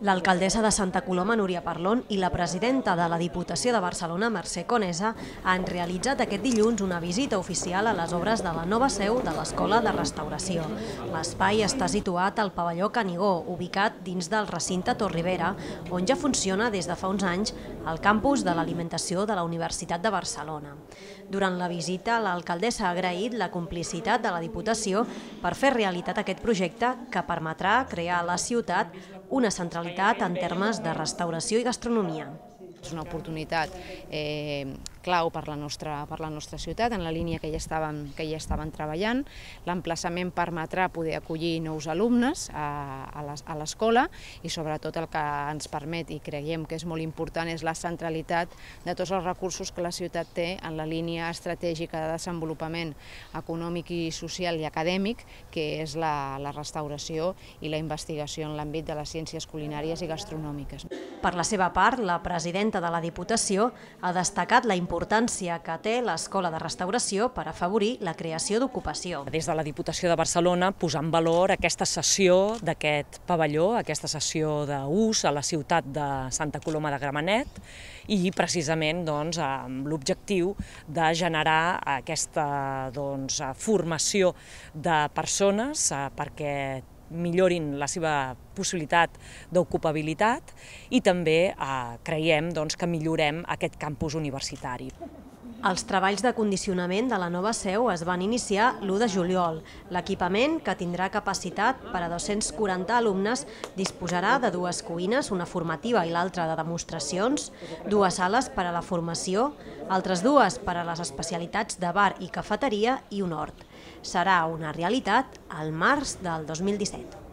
L'alcaldessa de Santa Coloma, Núria Parlon, i la presidenta de la Diputació de Barcelona, Mercè Conesa, han realitzat aquest dilluns una visita oficial a les obres de la nova seu de l'Escola de Restauració. L'espai està situat al pavelló Canigó, ubicat dins del recinte Tor Ribera, on ja funciona des de fa uns anys el campus de l'alimentació de la Universitat de Barcelona. Durant la visita, l'alcaldessa ha agraït la complicitat de la Diputació per fer realitat aquest projecte que permetrà crear a la ciutat una centralitat en termes de restauració i gastronomia. És una oportunitat clau per la nostra ciutat, en la línia que ja estaven treballant. L'emplaçament permetrà poder acollir nous alumnes a l'escola i sobretot el que ens permet, i creiem que és molt important, és la centralitat de tots els recursos que la ciutat té en la línia estratègica de desenvolupament econòmic i social i acadèmic, que és la restauració i la investigació en l'àmbit de les ciències culinàries i gastronòmiques. Per la seva part, la presidenta de la Diputació ha destacat la importància que té l'Escola de Restauració per afavorir la creació d'ocupació. Des de la Diputació de Barcelona posar en valor aquesta cessió d'aquest pavelló, aquesta cessió d'ús a la ciutat de Santa Coloma de Gramenet i precisament amb l'objectiu de generar aquesta formació de persones perquè millorin la seva possibilitat d'ocupabilitat i també creiem que millorem aquest campus universitari. Els treballs de condicionament de la nova seu es van iniciar l'1 de juliol. L'equipament, que tindrà capacitat per a 240 alumnes, disposarà de 2 cuines, una formativa i l'altra de demostracions, 2 sales per a la formació, altres 2 per a les especialitats de bar i cafeteria i un hort. Serà una realitat al març del 2017.